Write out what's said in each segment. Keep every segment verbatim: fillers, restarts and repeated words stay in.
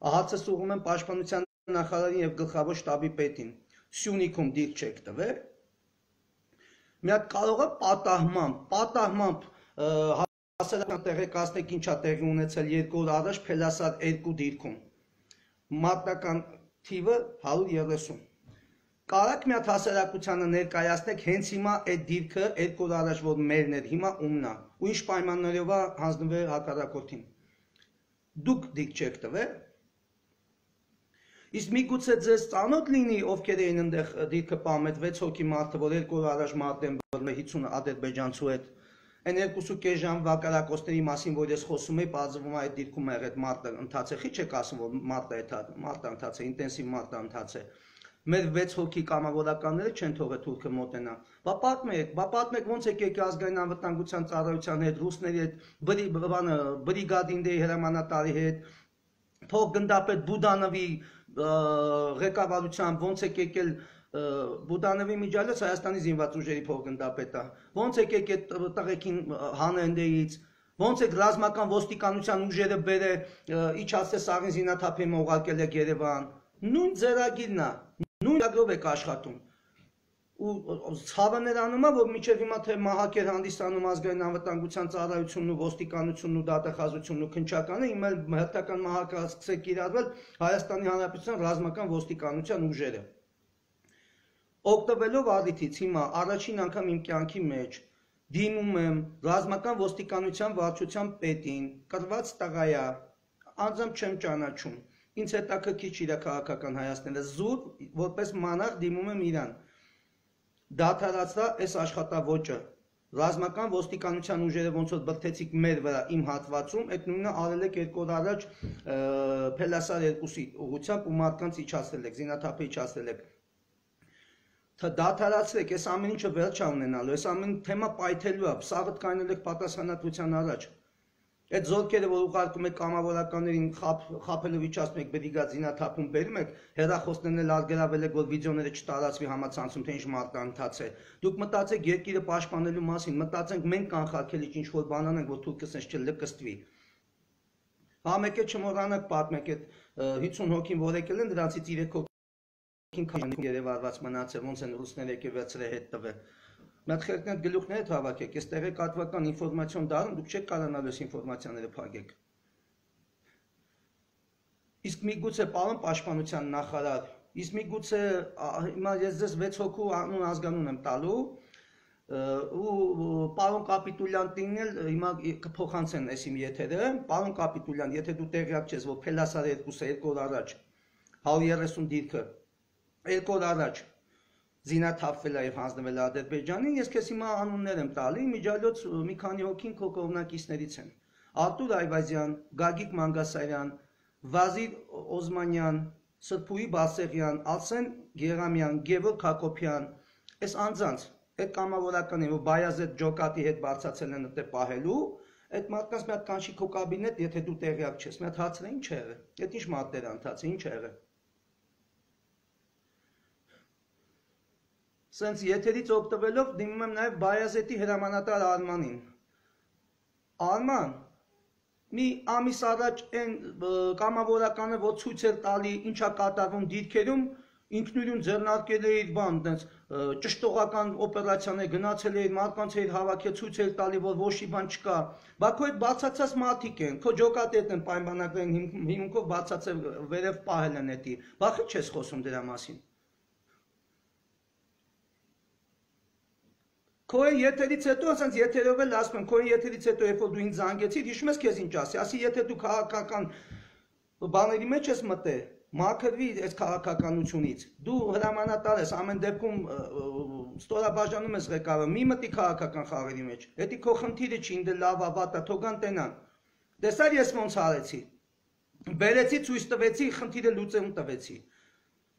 Ահացս ուղում եմ պաշտպանության նախարարին եւ գլխավոր շտաբի պետին։ Սյունիքում դիրք չեք տվել։ Մի հատ կարող է պատահմամբ, պատահմամբ հասարակական տեղեկացնեք ինչա տեղի ունեցել երկու օր առաջ Փելասար երկու դիրքում։ Մարտական թիվը հարյուր երեսուն։ Կարաք մի հատ հասարակությանը ներկայացնեք հենց հիմա այդ դիրքը երկու օր առաջ որ մերն էր, հիմա ումն է, ու ինչ պայմաններով է հանձնվել հակառակորդին։ Դուք դիրք չեք տվել։ Իսկ միգուցե ձեզ ծանոթ լինի ովքեր էին այնտեղ դիրքը պահում, այդ վեց հոգի մարդը, որ երկու օր առաջ մարտեն հիսուն ադրբեջանցու հետ, այն երկուսու կես ժամ վակարակոստների մասին, որ ես խոսում էի, բացվում է այդ դիրքում եղել այդ մարտը ընթաց է, քիչ եք ասում, որ մարտը այդ մարտը ընթաց է, ինտենսիվ մարտը ընթաց է։ Մեր վեց հոգի կամավորականները չեն թողել թուրքը մոտենա։ Բա պատմեք, բա պատմեք ոնց եք եկել ազգային անվտանգության ծառայության հետ, ռուսների հետ, բրիգադինների հրամանատարի հետ, փոխգնդապետ Բուդանովի ղեկավարությամբ ոնց եք եկել Բուդանովի միջալից Հայաստանի զինված ուժերի փոխգնդապետը, ոնց եք եկել տղեկին հանենդեից, ոնց եք ռազմական ոստիկանության ուժերը բերել իջացել Սաղին զինաթափին ուղարկել եք Երևան, նույն ձեռագիրն է, նույն ծրագրով եք աշխատում։ Ու ցավը նրանում է, որ մինչև հիմա թե մահակ էր հանդիսանում ազգային անվտանգության ծառայությունն ու ոստիկանությունն ու դատախազությունն ու քննչականը, հիմա հերթական մահակ է սկսել կիրառվել Հայաստանի Հանրապետության ռազմական ոստիկանության ուժերը։ Օգտվելով առիթից հիմա առաջին անգամ իմ կյանքի մեջ դիմում եմ ռազմական ոստիկանության վարչության պետին, կրված տղա է, անձամբ չեմ ճանաչում, ինձ հետաքրքիր չի իր քաղաքական հայացքները, զուտ որպես մանակ դիմում եմ իրան։ Դադարացրա այս աշխատավոճը, ռազմական ոստիկանության ուժերը ոնց որ բրդեցիք մեր վրա իմ հատվածում, այդ նույնը արել եք երկու օր առաջ Փելասար երկուսի ուղղությամբ ու մարդկանց իջացրել եք, զինաթափը իջացրել եք։ Դադարացրեք, այս ամեն ինչը վերջ է ունենալու, այս ամեն թեմա պայթելու է, սաղդ կայնել եք պատասխանատվության առաջ։ Այդ զորքերը, որ ուղարկում եք կամավորականներին խաբելով իջացնում եք բրիգադ զինաթափում բերում եք, հեռախոսներն էլ արգելավել եք, որ վիդեոները չտարածվի համացանցում, թե ինչ մարտը ընթաց է։ Դուք մտածեք երկիրը պաշտպանելու մասին, մտածենք մենք կանխարգելիչ ինչ որ բան անենք, որ թուրքը սենց չլկստվի։ Հա մեկ է չմոռանաք պատմեք այդ հիսուն հոգին, որ եկել են, դրանցից երեք հոգին քան երևարված մնացել, ոնց են ռուսները եկել վերցրել հետ տվել։ Մատ խելքն այդ գլուխները հավաքեք, այս տեղեկատվական ինֆորմացիոն դարում դուք չեք կարողանալ այս ինֆորմացիաները փակեք։ Իսկ միգուցե պարոն պաշտպանության նախարար, իսկ միգուցե հիմա ես ձեզ վեց հոգու անուն ազգանուն եմ տալու ու պարոն Կապիտուլյանտին էլ հիմա կփոխանցեն այս իմ եթերը, պարոն Կապիտուլյան, եթե դու տեղյակ ես, որ Փելասար երկուսը երկու օր առաջ հարյուր երեսուն դիրքը երկու օր առաջ զինաթափվել է եւ հանձնվել է Ադրբեջանին, ես քեզ հիմա անուններ եմ տալի, միջալոց մի քանի հոգին քո կողմնակիցներից են։ Արտուր Այվազյան, Գագիկ Մանգասարյան, Վազիր Օզմանյան, Սրփուի Բասեղյան, Ալսեն Գերամյան, Գևորգ Հակոբյան, այս անձանց, այդ կամավորականին, որ Բայազեդ Ջոկատի հետ բարձացել են այդտեղ պահելու, այդ մարդկանց մի հատ կանչի քո կաբինետ, եթե դու տեղյակ չես, մի հատ հարցրե ինչ է եղել։ Այդ ինչ մարտեր ընթացի, ինչ է եղել։ Սենց եթերից օգտվելով դիմում եմ նաև Բայազետի հրամանատար Արմանին։ Արման, մի ամիս առաջ այն կամավորականը, որ ցույց էր տալի ինչա կատարվում դիրքերում, ինքնուրույն ձեռնարկել է իր բան, տենց ճշտողական օպերացիաներ գնացել է իր մարդկանց հետ հավաքել, ցույց էր տալի, որ ոչի բան չկա։ Բա քո այդ բացացած մարդիկ են, քո ջոկատի հետ են պայմանագրային հիմքով բացացել վերև պահել են էտի։ Բախի չես խոսում դրա մասին։ Քո եթերից հետո, ասենց եթերով էլ ասում եմ, քո եթերից հետո, երբ որ դու ինձ զանգեցիր, հիշում ես քեզ ինչ ասի, ասի եթե դու քաղաքական բաների մեջ ես մտել, մաքրվի այս քաղաքականությունից, դու հրամանատար ես, ամեն դեպքում ստորաբաժանում ես ղեկավարը, մի մտի քաղաքական խաղերի մեջ, հետի քո խնդիրը չի, ինձ լավ ավատա, թողան տենան, տեսար ես ոնց արեցի, բերեցի, ցույց տվեցի, խնդիրը լուծում տվեցի,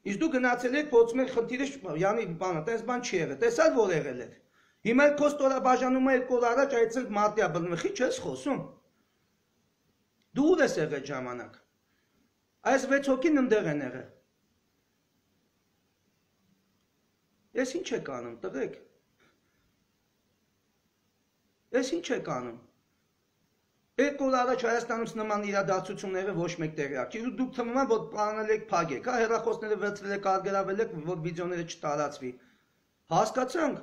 իսկ դու գնացել եք, փորձում եք խնդիրը, յանի բանը, տես բան չի եղել, տեսար որ եղել էր։ Հիմա քո ստորաբաժանումը երկու օր առաջ այցել մարտիա բռնվի, չես խոսում։ Դու ուր ես եղել ժամանակ։ Այս վեց հոգին ընդեղ են եղել։ Ես ինչ եք անում, տղեկ։ Ես ինչ եք անում։ Երկու օր առաջ Հայաստանում նման իրադարձությունները ոչ մեկ տեղյակ չի։ Դուք թվում է, որ պլանել եք փակեք, հա, հեռախոսները վերցրել եք, արգելավել եք, որ վիդեոները չտարածվի։ Հասկացանք։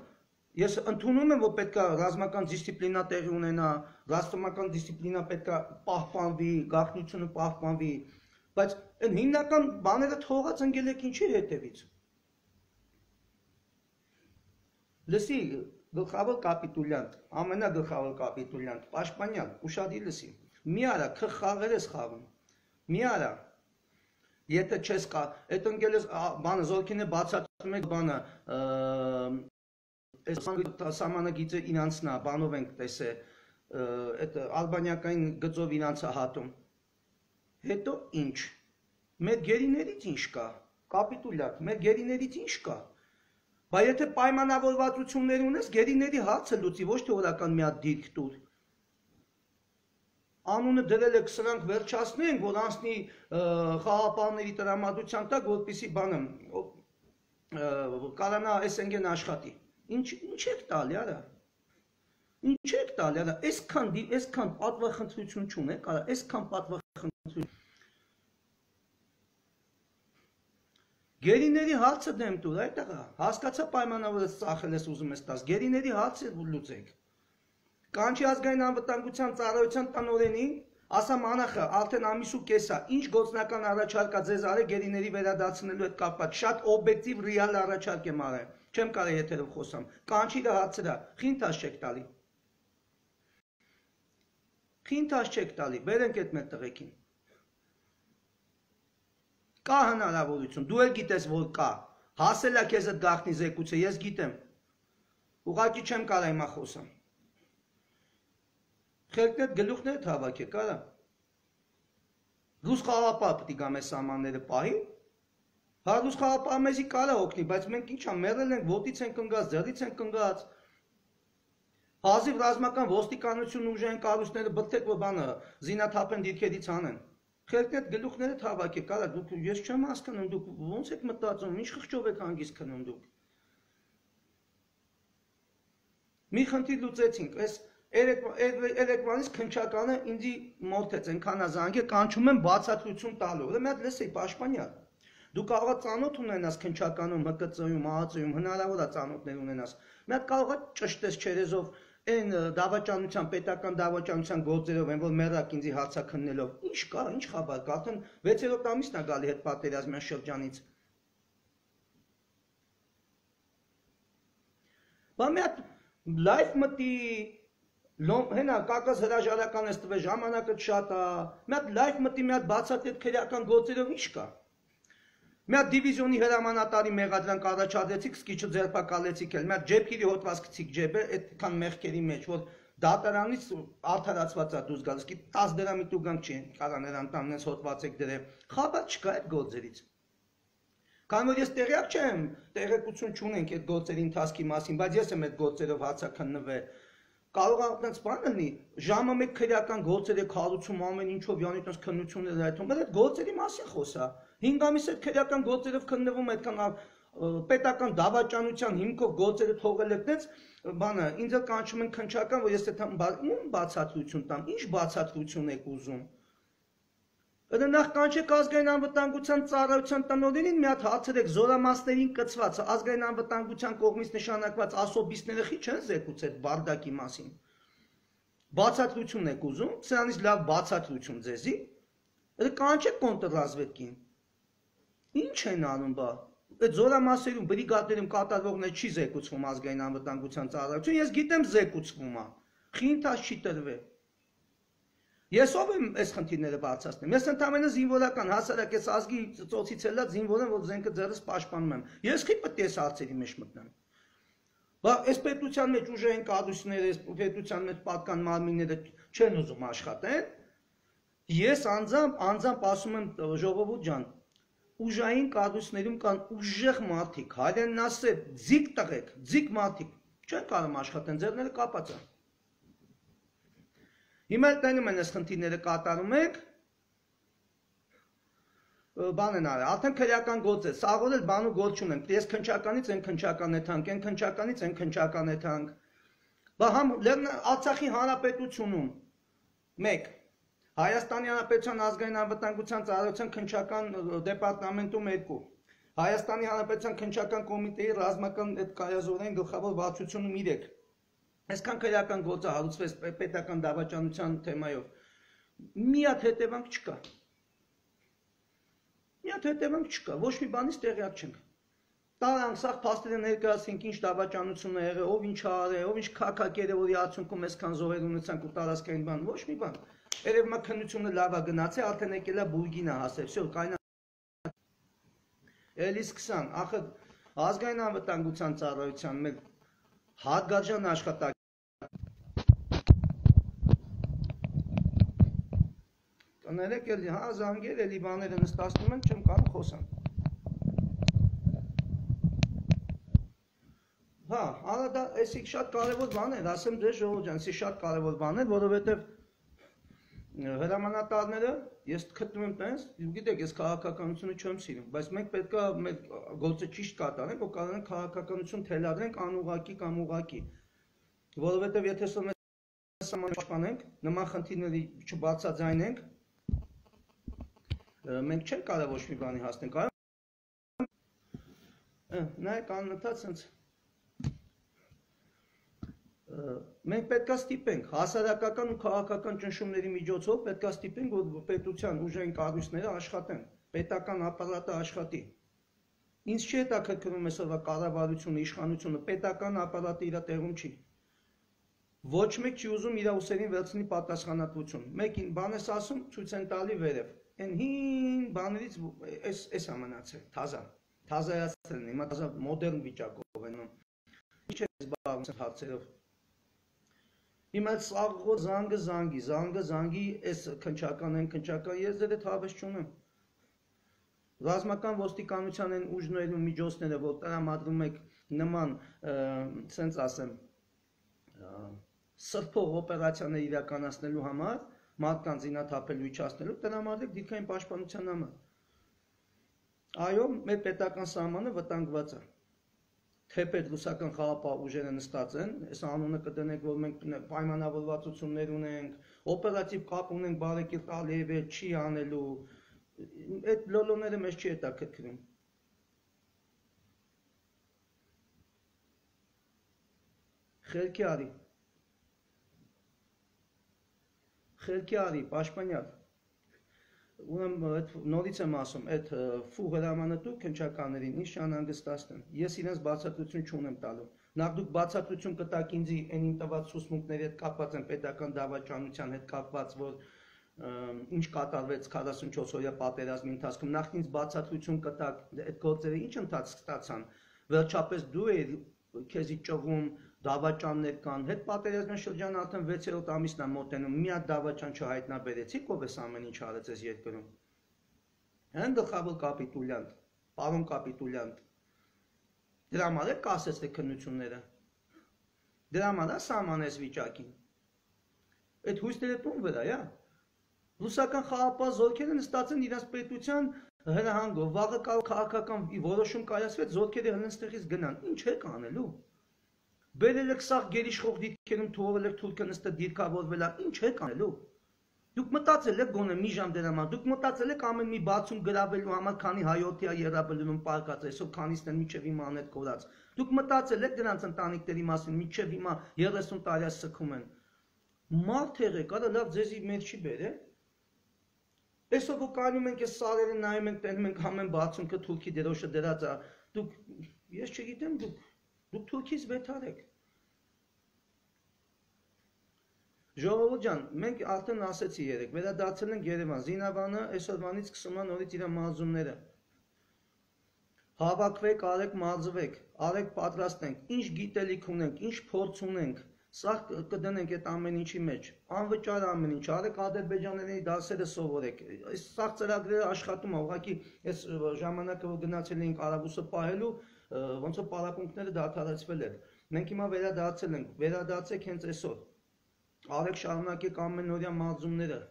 Ես ընդունում եմ, որ պետք է ռազմական դիսցիպլինա տեղի ունենա, ռազմական դիսցիպլինա պետք է պահպանվի, գաղտնիությունը պահպանվի, բայց այն հիմնական բաները թողած ընկել եք ինչի հետևից։ Լսի, գլխավոր կապիտուլյանտ, ամենագլխավոր կապիտուլյանտ, Պաշտպանյան, ուշադիր լսի։ Մի արա, քը խաղեր ես խաղում։ Մի արա։ Եթե չես կա, այդ ընկել ես բանը զորքին է բացատրում եք բանը Այս սահմանագիծը իրանցնա, բանով ենք տեսել, այդ ալբանիակային գծով իրանցա հատում։ Հետո ինչ։ Մեր գերիներից ինչ կա, կապիտուլյատ, մեր գերիներից ինչ կա։ Բայց եթե պայմանավորվածություններ ունես, գերիների հարցը լուծի, ոչ թե օրական մի հատ դիրք տուր։ Անունը դրել եք սրանք վերջացնենք, որ անցնի խաղապահների տրամադրության տակ, որպեսզի բանը կարանա այս ընկեն աշխատի։ Ինչ ինչ եք տալի, արա։ Ինչ եք տալի, արա։ Այսքան այսքան պատվախնդրություն չունեք, արա, այսքան պատվախնդրություն։ Գերիների հարցը դեմ տուր, այդտեղ հասկացա պայմանավորը ծախել ես ուզում ես տաս։ Գերիների հարցը լուծեք։ Կանչի ազգային անվտանգության ծառայության տնօրենին, ասամ անախը, արդեն ամիս ու կես է, ինչ գործնական առաջարկ է ձեզ արել գերիների վերադարձնելու հետ կապված, շատ օբյեկտիվ ռեալ առաջարկ եմ արել, չեմ կարող եթերով խոսամ, կանչի դա հարցրա, խինթաշ չեք տալի, խինթաշ չեք տալի, բերենք այդ մեր տղեկին, կա հնարավորություն, դու էլ գիտես, որ կա, հասել է քեզ այդ գաղտնի զեկույցը, ես գիտեմ, ուղղակի չեմ կարող հիմա խոսամ, խելքն այդ գլուխները թավակեք, արա, Ռուս խաղապահ պետք է գա մեր սահմանները պահի, հա ռուս խաղապահը մեզի կարա օգնի, բայց մենք ինչա մեռել ենք, ոտից ենք ընկած, ձեռից ենք ընկած, հազիվ ռազմական ոստիկանություն ուժային կառույցները բթեք, որ բանը զինաթափեն դիրքերից անեն, խելքն այդ գլուխները թավակեք, արա, դուք ես չեմ հասկանում, դուք ոնց եք մտածում, ինչ խղճով եք հանգիստ քնում դուք։ Մի խնդիր լուծեցինք, այս Երեկվանից քնչականը ինձի մոթեց, ենքան ազանգ է, կանչում եմ բացատրություն տալու, մի հատ լսեի Պաշտպանյան, դու կարող ես ծանոթ ունենաս քնչականում, Հ Կ Ծ-ում, Ա Ծ-ում, հնարավոր է ծանոթներ ունենաս, մի հատ կարող ես ճշտես չերեզով, այն դավաճանության, պետական դավաճանության գործերով, այն որ մեռակ ինձի հարցաքննելով, ինչ կա, ինչ խաբար կա, արդեն վեցերորդ ամիսն է գալի հետ պատերազմյան շրջանից։ Բա մի հատ լայվ մտի Հենա կակաս հրաժարական ես տվել, ժամանակը շատ է, մի հատ լայվ մտի, մի հատ բացատրի քրեական գործերով ինչ կա։ Մի հատ դիվիզիոնի հրամանատարի մեղադրանք առաջադրեցիք, սկիչը ձերբակալեցիք էլ, մի հատ ջեփիրի հոդված գցիք ջեբը, այդքան մեղքերի մեջ, որ դատարանից արդարացված է դուրս գալիս, კი տասը դրամի տուգանք չի, կարա նրան տանես հոդված եք դրել, խաբար չկա այդ գործերից։ Քանի որ ես տեղյակ չեմ, տեղեկություն չունենք այդ գործերի ընթացքի մասին, բայց ես եմ այդ գործերով հացաքննվել։ Կարող է այդպես բան լինի, ժամը մեկ քրեական գործեր եք հարուցում ամեն ինչով յանի այդպես քննություններ այդում, բայց այդ գործերի մասին խոսա։ հինգ ամիս այդ քրեական գործերով քննվում այդքան պետական դավաճանության հիմքով գործերը թողել եք դες, բանը ինձ էլ կանչում են քնչական, որ ես այդ բացատրություն տամ, ինչ բացատրություն եք ուզում։ Դա նախ կանչեք ազգային անվտանգության ծառայության տնօրենին մի հատ հարցրեք զորամասներին կցված ազգային անվտանգության կողմից նշանակված ասոբիստները խի չեն զեկուցել բարդակի մասին։ Բացատրություն եք ուզում, սրանից լավ բացատրություն ձեզի։ Դա կանչեք կոնտրռազվեդկին։ Ինչ են անում բա։ Այդ զորամասերում բրիգադներում կատարվողներ չի զեկուցվում ազգային անվտանգության ծառայություն, ես գիտեմ զեկուցվում է։ Խինթաշ չի տրվել։ Ես ով եմ այս խնդիրները բարձրացնեմ։ Ես ընդամենը զինվորական հասարակ այս ազգի ծոցից ելած զինվոր եմ, որ զենքը ձեռս պաշտպանում եմ։ Ես քիչ պետք է այս հարցերի մեջ մտնեմ։ Բա այս պետության մեջ ուժային կառույցները, այս պետության մեջ պատկան մարմինները չեն ուզում աշխատեն։ Ես անձամբ անձամբ ասում եմ ժողովուրդ ջան, ուժային կառույցներում կան ուժեղ մարդիկ, հայերենն ասել, ձիգ տղեկ, ձիգ մարդիկ, չեն կարող աշխատեն, ձեռները կապած են։ Հիմա տենում են այս խնդիրները կատարում եք, բան են արել, արդեն քրեական գործ է, սաղոր էլ բան ու գործ չունենք, ես քնչականից են քնչական է թանք, են քնչականից են քնչական է թանք, բա համ Արցախի հանրապետությունում, մեկ Հայաստանի Հանրապետության ազգային անվտանգության ծառայության քննչական դեպարտամենտում երկու Հայաստանի Հանրապետության քննչական կոմիտեի ռազմական կայազորային գլխավոր վարչությունում երեք Այսքան քրեական գործը հարուցվեց պետական դավաճանության թեմայով մի հատ հետևանք չկա Մի հատ հետևանք չկա ոչ մի բանից տեղյակ չենք Տարանք սաղ փաստերը ներկայացինք ինչ դավաճանություն է եղել ով ինչ արել ով ինչ քակակեր է որի արդյունքում այսքան զոհեր ունեցանք ու տարածքային բան ոչ մի բան Երևի քննությունը լավ է գնացել արդեն եկել է բուրգին է հասել всё կայնա Էլի սկսան ախր ազգային անվտանգության ծառայության մեր հատկաճան աշխատակ Կներեք էլի հա զանգեր էլի բաները նստացնում են չեմ կարող խոսամ Հա, արա դա էսի շատ կարևոր բան է, ասեմ դե ժողովուրդ ջան, էսի շատ կարևոր բան է, որովհետև հրամանատարները ես գտնում եմ տենց, գիտեք, ես քաղաքականությունը չեմ սիրում, բայց մենք պետք է մեր գործը ճիշտ կատարենք, որ կարողանանք քաղաքականություն թելադրենք անուղղակի կամ ուղղակի, որովհետև եթե սա մեզ պաշտպանենք, նման խնդիրների չբացաձայնենք, մենք չենք կարող ոչ մի բանի հասնենք, նայեք անընդհատ սենց Մենք պետք է ստիպենք հասարակական ու քաղաքական ճնշումների միջոցով պետք է ստիպենք որ պետության ուժային կառույցները աշխատեն, պետական ապարատը աշխատի։ Ինձ չի հետաքրքրում այսօրվա կառավարությունը, իշխանությունը, պետական ապարատը իր տեղում չի։ Ոչ մեկ չի ուզում իր ուսերին վերցնի պատասխանատվություն։ Մեկին բան ես ասում, ցույց են տալի վերև։ Այն հին բաներից էս էս է մնացել, թազա։ Թազայացել են, հիմա թազա մոդեռն վիճակով են։ Ինչ է զբաղվում հարցերով։ Հիմա սաղ զանգը զանգի, զանգը զանգի էս քնչական են քնչական, ես դե թավես չունեմ։ Ռազմական ոստիկանության են ուժներն ու միջոցները, որ տրամադրում եք նման, սենց ասեմ, սրբող օպերացիաներ իրականացնելու համար, մարդկանց զինաթափելու իջացնելու, տրամադրեք դիրքային պաշտպանության համար։ Այո, մեր պետական սահմանը վտանգված է։ Թեպետ ռուսական խաղապահ ուժերը նստած են, այս անունը կդնենք, որ մենք պայմանավորվածություններ ունենք, օպերատիվ կապ ունենք բարեկիր տալի է չի անելու, այդ լոլոները մեզ չի հետաքրքրում։ Խելքի արի, խելքի արի, պաշտպանյալ, նորից եմ ասում, այդ ֆու հրամանատու քննչականներին ինչ չանհանգստացնեն, ես իրենց բացատրություն չունեմ տալու, նախ դուք բացատրություն կտաք ինձ այն իմ տված ցուցմունքների հետ կապված են պետական դավաճանության հետ կապված, որ ինչ կատարվեց քառասունչորս օրյա պատերազմի ընթացքում, նախ ինձ բացատրություն կտաք, այդ գործերը ինչ ընթացք ստացան, վերջապես դու ես քեզի ճղում դավաճաններ կան, հետ պատերազմյան շրջանը արդեն վեցերորդ ամիսն է մոտենում, մի հատ դավաճան չհայտնաբերեցիք, ով էս ամեն ինչ արեց այս երկրում։ Հեն գլխավոր կապիտուլյանտ, պարոն կապիտուլյանտ։ Դրա համար է կասեցեք քննությունները։ Դրա համար է սահմանես վիճակին։ Այդ հույսները տուն վրա, յա։ Ռուսական խաղապահ զորքերը նստած են իրաց պետության հրահանգով, վաղը կարող քաղաքական որոշում կայացվեց, զորքերը հենց գնան, ինչ եք անելու։ Բերել եք սաղ գերիշխող դիրքերում թողել եք թուրքը նստել դիրքավորվել, ինչ եք անելու։ Դուք մտածել եք գոնե մի ժամ դրա համար, դուք մտածել եք ամեն մի բացում գրավելու համար, քանի հայոթիա երաբելում պարկած, այսօր քանիսն են միջև հիմա անետ կորած։ Դուք մտածել եք դրանց ընտանիքների մասին, միջև հիմա երեսուն տարյա սքում են։ Մարդ եղեք, արա լավ ձեզի մեր չի բերել։ Այսօր որ կայնում ենք այս սարերը նայում ենք, տենում ենք ամեն բացունքը թուրքի դերոշը դրած է, դուք, ես չգիտեմ, դուք, դուք թուրքից վեթար եք։ Ժողովուրդ ջան, մենք արդեն ասեցի երեք, վերադարձել ենք Երևան, Զինավանը այսօրվանից սկսում է նորից իր մարզումները։ Հավաքվեք, արեք մարզվեք, արեք պատրաստենք, ինչ գիտելիք ունենք, ինչ փորձ ունենք, սա կդնենք այդ ամեն ինչի մեջ, անվճար ամեն ինչ, արեք ադրբեջաների դասերը սովորեք, այս սաղ ծրագրերը աշխատում է, ուղղակի այս ժամանակը որ գնացել էինք Արաբուսը պահելու, ոնց որ պարապմունքները դադարեցվել էր, մենք հիմա վերադարձել ենք, վերադարձեք հենց այսօր, արեք շարունակեք ամենօրյա մարզումները,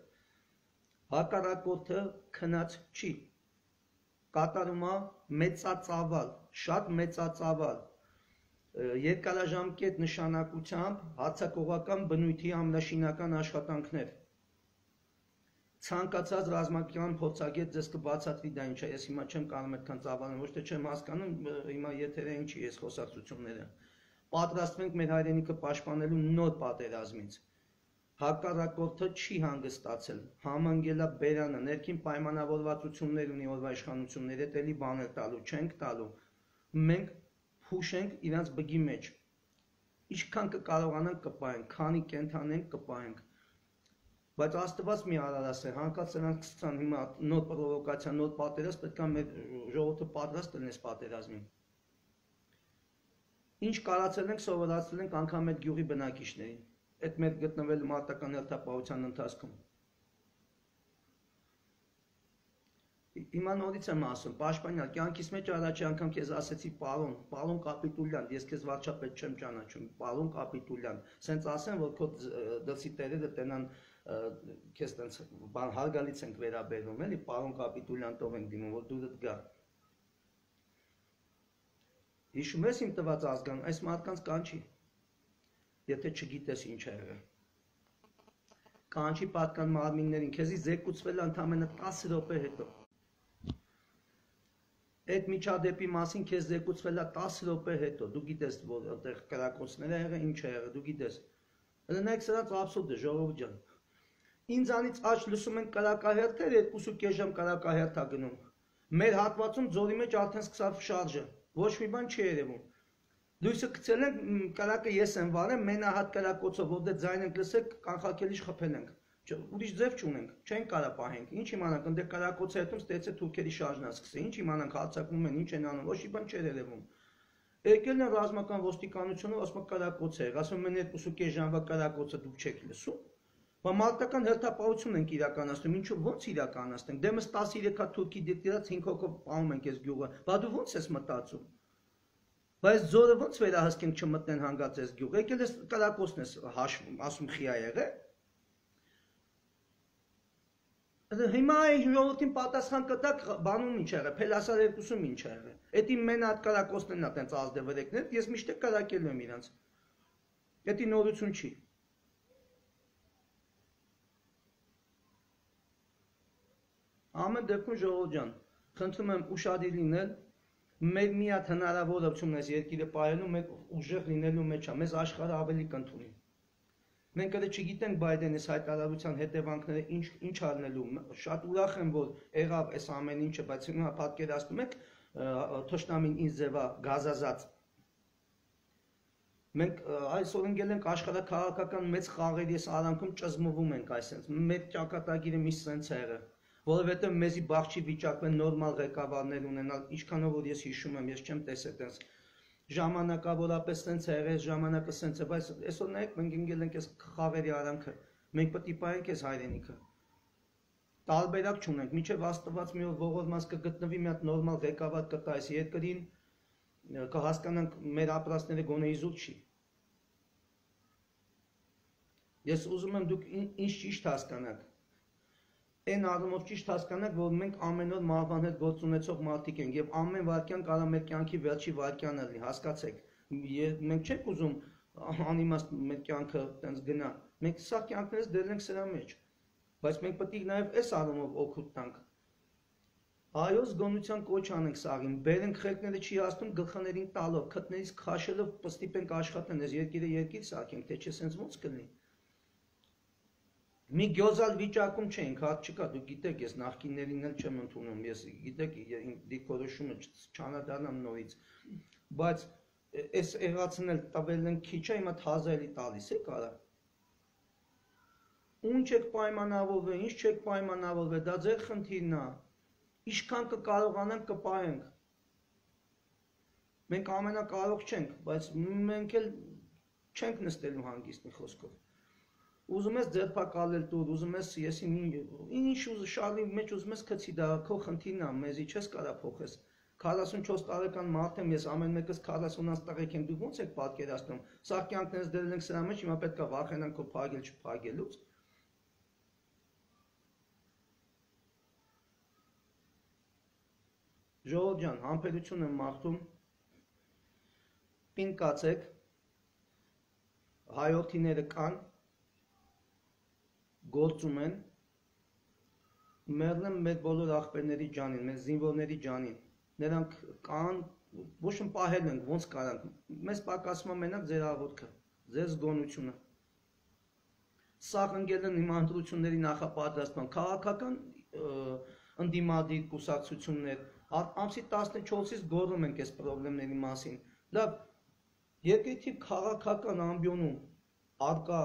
հակառակորդը քնած չի, կատարում է մեծածավալ, շատ մեծածավալ, երկարաժամկետ նշանակությամբ հարձակողական բնույթի ամենաշինական աշխատանքներ, ցանկացած ռազմական փորձագետ ձեզ կբացատրի դա ինչ է, ես հիմա չեմ կարող այդքան ծավալել, ոչ թե չեմ հասկանում, հիմա եթերը ինչի ես խոսակցությունները։ Պատրաստվենք մեր հայրենիքը պաշտպանելու նոր պատերազմից։ Հակառակորդը չի հանգստացել, համանգելա բերանը, ներքին պայմանավորվածություններ ունի օրվա իշխանությունները, հետ էլի բաներ տալու, չենք տալու։ Մենք փուշենք իրանց բգի մեջ։ Ինչքան կկարողանանք կպայենք, քանի կենթանենք կպայենք։ Բայց Աստված մի արարած է, հանկարծ նրանք սկսան հիմա նոր պրովոկացիա, նոր պատերազմ, պետք է մեր ժողովուրդը պատրաստ լինես պատերազմին։ Ինչ կարացել ենք, սովորացել ենք անգամ այդ գյուղի բնակիչներին, այդ մեր գտնվել մարտական հերթապահության ընթացքում։ Հիմա նորից եմ ասում, պաշտպանյալ, կյանքիս մեջ առաջի անգամ քեզ ասեցի պարոն, պարոն Կապիտուլյան, ես քեզ վարչապետ չեմ ճանաչում, պարոն Կապիտուլյան, սենց ասեն, որ քո դրսի տերերը տենան քեզ տենց բան հարգալից ենք վերաբերվում, էլի, պարոն Կապիտուլյան տով ենք դիմում, որ դուրդ գա։ Հիշում ես իմ տված ազգան, այս մարդկանց կանչի, եթե չգիտես ինչ է եղել։ Կանչի պատկան մարմիններին, քեզի զեկուցվել ընդամենը տասը րոպե հետո։ Այդ միջադեպի մասին քեզ զեկուցվել է տասը րոպե հետո, դու գիտես, որ այդտեղ կրակոցներ է եղել, ինչ է եղել, դու գիտես։ Լնայք սրանց абսուրդ է, ժողովուրդ ջան։ Ինձանից աճ լսում են կրակահերթեր, երկու կես ժամ կրակահերթ է գնում։ Մեր հատվածում ձորի մեջ արդեն սկսավ շարժը, ոչ մի բան չի երևում։ Լույսը գցել ենք, կրակը ես եմ վարել, մենահատ կրակոցով, որ դե ձայն ենք լսել, կանխակելիչ խփել ենք։ Ուրիշ ձև չունենք, չենք կարա պահենք, ինչ իմանանք, ընդ կրակոցը հետում ստեցե թուրքերի շարժնա սկսել, ինչ իմանանք, հարձակվում են, ինչ են անում, ոչ մի բան չէր երևում։ Եկել են ռազմական ոստիկանությունը, ասում կրակոց է, ասում են երկու կես ժամվա կրակոցը դուք չեք լսում։ Բա մարտական հերթապահություն ենք իրականացնում, ինչու ո՞նց իրականացնենք։ Դեմս տասնյոթ թուրքի դիտած հինգ հոգով պահում ենք այս գյուղը։ Բա դու ո՞նց ես մտածում։ Բայց զորը ո՞նց վերահսկենք չմտնեն հանգած այս գյուղ։ Եկել ես կրակոցն ես հաշվում, ասում խիա եղե։ Հիմա այն ժողովրդին պատասխան կտակ բանում ինչ եղել, Փելասար երկուսում ինչ եղել։ Էդի մեն հատ կրակոցներն ա տենց ազդևրեկներ, ես միշտ կրակելու եմ իրանց։ Էդի նորություն չի։ Ամեն դեպքում ժողովուրդ ջան, խնդրում եմ ուշադիր լինել, մեր մի հատ հնարավորությունն է երկիրը պահելու, մեր ուժեղ լինելու մեջ է, մեզ աշխարհը ավելի կընդունի։ Մենք էլ չգիտենք Բայդենի հայտարարության հետևանքները ինչ ինչ առնելու, շատ ուրախ եմ, որ եղավ այս ամեն ինչը, բայց հիմա պատկերացնում եք թշնամին ինձ ձևա գազազած։ Մենք այսօր ընկել ենք աշխարհաքաղաքական մեծ խաղերի արանքում ճզմվում ենք այսպես։ Մեր ճակատագիրը մի սենց է եղել, որովհետև մեզի բախ չի վիճակվել նորմալ ղեկավարներ ունենալ, ինչքանով որ ես հիշում եմ, ես չեմ տեսել տես ժամանակավորապես սենց է եղել, ժամանակը սենց է, բայց այսօր նայեք մենք ընկել ենք այս խաղերի արանքը, մենք պետք է պահենք այս հայրենիքը։ Տարբերակ չունենք, մինչև Աստված մի օր ողորմած կգտնվի մի հատ նորմալ ղեկավար կտա այս երկրին, կհասկանանք մեր ապրածները գոնե իզուր չի։ Ես ուզում եմ դուք ինչ ճիշտ հասկանաք։ Այն առումով ճիշտ հասկանաք, որ մենք ամեն օր մահվան հետ գործ ունեցող մարդիկ ենք եւ ամեն վարքյան կարա մեր կյանքի վերջի վարքյանն լինի, հասկացեք։ Մենք չենք ուզում անիմաստ մեր կյանքը տենց գնա։ Մենք սա կյանքներս դրել ենք սրա մեջ։ Բայց մենք պետք է նաեւ այս առումով օգուտ տանք։ Այո, զգոնության կոչ անենք սաղին, բերենք խելքները չի հասնում գլխաներին տալով, քթներից քաշելով պստիպենք աշխատեն, այս երկիրը երկիր սարքենք, թե չէ սենց ոնց կլինի։ Մի գյոզալ վիճակում չենք, հատ չկա, դուք գիտեք, ես նախկիններին էլ չեմ ընդունում, ես գիտեք, դիրքորոշումը չանադառնամ նորից, բայց այս եղածն էլ տվել են քիչ է, հիմա հազարի տալիս է կարա։ Ուն չեք պայմանավորվել, ինչ չեք պայմանավորվել, դա ձեր խնդիրն է։ Ինչքան կկարողանանք կպահենք։ Մենք ամենակարող չենք, բայց մենք էլ չենք նստելու հանգիստ մի խոսքով։ Ուզում ես ձերբակալել տուր, ուզում ես ես ինչ ուզ շարի մեջ ուզում ես գցի, դա քո խնդիրն է, մեզի չես կարա փոխես։ քառասունչորս տարեկան մարդ եմ, ես ամեն մեկս քառասունից տղեկ եմ, դուք ո՞նց եք պատկերացնում։ Սա կյանքներս դրել ենք սրա մեջ, հիմա պետք է վախենանք քո փագել չփագելուց։ Ժողովուրդ ջան, համբերություն եմ մաղթում, պին կացեք, հայորդիները կան, գործում են, մեռնեմ մեր բոլոր աղբերների ջանին, մեր զինվորների ջանին։ Նրանք կան, ոչ մի պահել ենք, ոնց կարանք։ Մեզ պակասում է մենակ ձեր աղոթքը, ձեր զգոնությունը։ Սաղ ընկել են իմ ընտրությունների նախապատրաստման, քաղաքական ընդդիմադիր կուսակցություններ, ամսի տասնչորսից գոռում ենք այս խնդիրների մասին։ Լավ, երկրի քաղաքական ամբիոնում արկա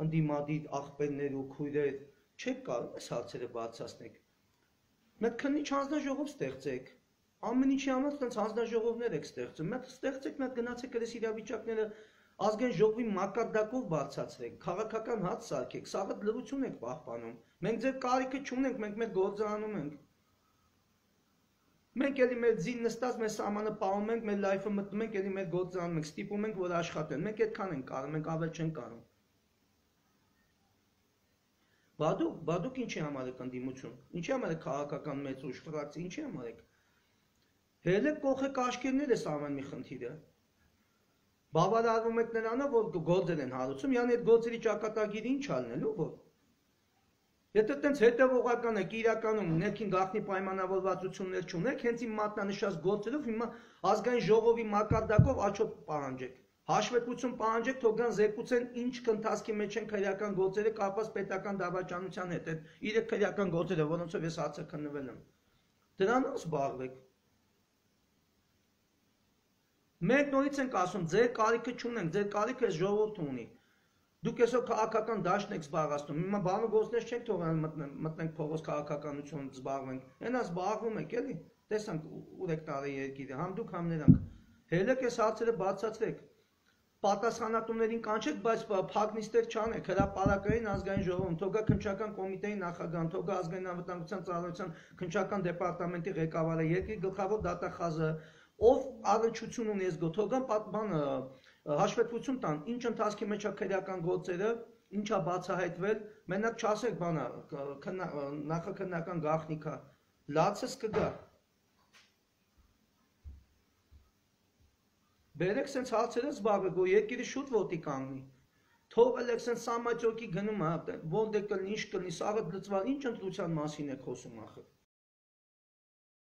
ընդդիմադիր աղբերներ ու քույրեր չեք կարող այս հարցերը բարձրացնել։ Մեկ քննիչ հանձնաժողով ստեղծեք, ամեն ինչի համար այդպես հանձնաժողովներ եք ստեղծում, մեկ ստեղծեք, մեկ գնացեք այս իրավիճակները ազգային ժողովի մակարդակով բարձրացրեք, քաղաքական հաց սարքեք, սաղը լրություն եք պահպանում։ Մենք ձեր կարիքը չունենք, մենք մեր գործը անում ենք։ Մենք էլի մեր ձին նստած, մեր սահմանը պահում ենք, մեր լայֆը մտնում ենք, էլի մեր գործը անում ենք, ստիպում ենք, որ աշխատեն։ Մենք այդքան ենք կարող, մենք ավել չենք կարող։ Բադուկ, բադուկ ինչի համար եք ընդդիմություն, ինչի համար եք քաղաքական մեծ ուժ ֆրակցիա, ինչի համար եք։ Հելեք կողեք աշկերներ ես ամեն մի խնդիրը։ Բավարարվում եք նրանով, որ գործեր են հարուցում, յանի այդ գործերի ճակատագիրը ինչ ալնելու, որ։ Եթե տենց հետևողական եք իրականում ներքին գաղտնի պայմանավորվածություններ չունեք, հենց իմ մատնանշած գործերով հիմա ազգային ժողովի մակարդակով աչոտ պահանջեք։ Հաշվետվություն պահանջեք, թող գան զեկուցեն ինչ կընթացքի մեջ են քրեական գործերը կապված պետական դավաճանության հետ, այդ իրեք քրեական գործերը, որոնցով ես հացը քննվել եմ։ Դրանով զբաղվեք։ Մենք նորից ենք ասում, ձեր կարիքը չունենք, ձեր կարիքը այս ժողովուրդը ունի։ Դուք այսօր քաղաքական դաշտն եք զբաղացնում, հիմա բանը գործներ չենք թողնել մտնենք փողոց քաղաքականություն զբաղվենք, այնա զբաղվում եք էլի, տեսանք ուր եք տարի երկիրը, համ դուք համ նրանք, հելեք այս հարցերը բացացրեք, պատասխանատուներին կանչեք, բայց փակնիստեր չանեք, հրապարակային ազգային ժողովում, թողա քննչական կոմիտեի նախագահան, թողա ազգային անվտանգության ծառայության քննչական դեպարտամենտի ղեկավարը, երկրի գլխավոր դատախազը, ով առնչություն ունի այս գոթողան պատմանը հաշվետվություն տան, ինչ ընթացքի մեջ է քրեական գործերը, ինչ է բացահայտվել, մենակ չասեք բանա, նախաքննական գաղտնիքա, լացս կգա։ Բերեք սենց հարցերը զբաղվեք, որ երկիրը շուտ ոտի կանգնի։ Թողել եք սենց սամաճոկի գնում, ոնդ է կլնի, ինչ կլնի, սաղը լծվալ, ինչ ընտրության մասին եք խոսում ախր։